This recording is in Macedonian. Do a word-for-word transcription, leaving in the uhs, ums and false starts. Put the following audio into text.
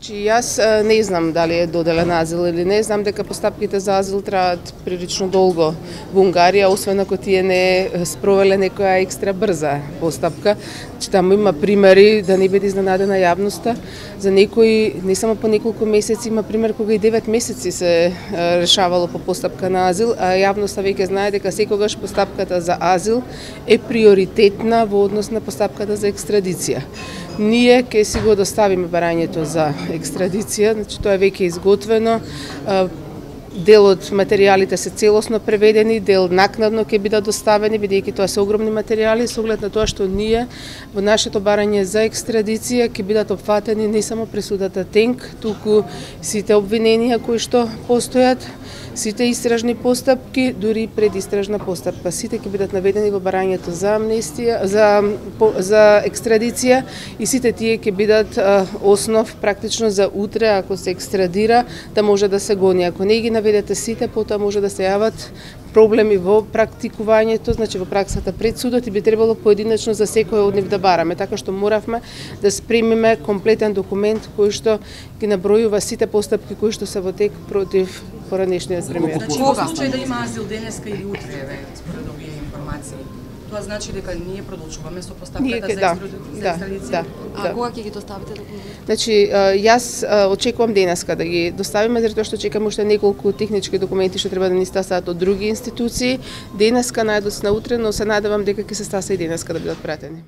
Значи, јас не знам дали е доделен азил или не, знам дека постапките за азил траат прилично долго во Унгарија, освен ако тие не спровеле некоја екстра брза постапка. Че таму има примери, да не биде изненадена јавноста, за некои не само по неколку месеци, има пример кога и девет месеци се решавало по постапка на азил, а јавноста веќе знае дека секогаш постапката за азил е приоритетна во однос на постапката за екстрадиција. Ние ќе си го доставиме барањето за екстрадиција, значи тоа е веќе изготвено. Дел од материјалите се целосно преведени, дел накнадно ќе бидат доставени, бидејќи тоа се огромни материјали, со оглед на тоа што ние во нашето барање за екстрадиција ќе бидат опфатени не само пресудата Тенк, туку сите обвиненија кои што постојат, сите истражни постапки, дури предистражна постапка. Сите ќе бидат наведени во барањето за амнестија, за за екстрадиција и сите тие ќе бидат а, основ практично за утре, ако се екстрадира, да може да се гони. Ако не ги наведете сите, потоа може да се јават проблеми во практикувањето, значи во праксата пред судот, и би требало поединечно за секој од нив да бараме, така што моравме да спремиме комплетен документ кој што ги набројува сите постапки кои што се во тек против поранешниот премиер. Значи, во случај да има азил денеска или утре, еве, според овие информации, тоа значи дека ние продолжуваме со постапката за, да, за да, екстрадиција? Да, а да. кога ќе ги доставите документи? Значи, јас очекувам денеска да ги доставиме, затоа што чекам уште неколку технички документи што треба да ни стасаат од други институции. Денеска, најдоцна утре, но се надевам дека ќе се стаса и денеска да бидат пратени.